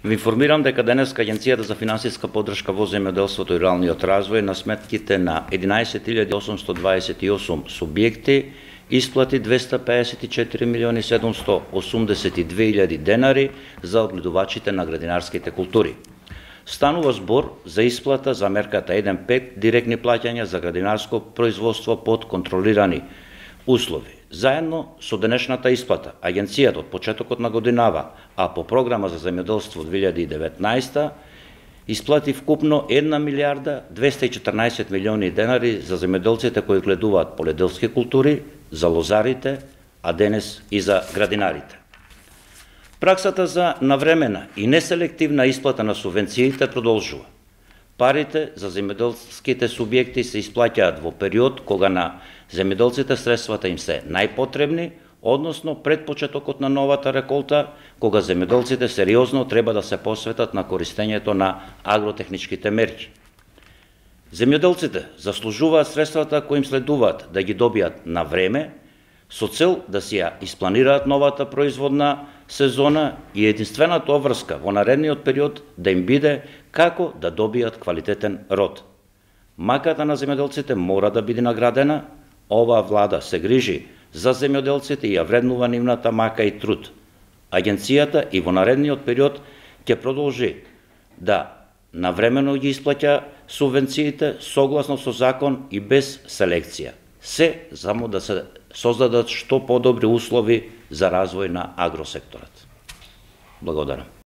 Ви информирам дека денес Агенцијата за финансиска поддршка во земјоделството и руралниот развој на сметките на 11.828 субјекти исплати 254.782.000 денари за одгледувачите на градинарските култури. Станува збор за исплата за мерката 1.5 директни плаќања за градинарско производство под контролирани услови. Заедно со денешната исплата, Агенцијата од почетокот на годинава, а по програма за земјоделство 2019, исплати вкупно 1 милиарда 214 милиони денари за земјоделците кои гледуваат поледелски култури, за лозарите, а денес и за градинарите. Праксата за навремена и неселективна исплата на субвенциите продолжува. Парите за земјоделските субјекти се исплаќаат во период кога на земјоделците средствата им се најпотребни, односно пред почетокот на новата реколта, кога земјоделците сериозно треба да се посветат на користењето на агротехничките мерки. Земјоделците заслужуваат средствата кои им следуваат да ги добијат на време, со цел да си ја испланираат новата производна сезона и единствената обврска во наредниот период да им биде како да добијат квалитетен род. Маката на земјоделците мора да биде наградена, оваа влада се грижи за земјоделците и ја вреднува нивната мака и труд. Агенцијата и во наредниот период ќе продолжи да навремено ги исплаќа субвенциите согласно со закон и без селекција. Се само да се создадат што подобри услови за развој на агросекторот. Благодарам.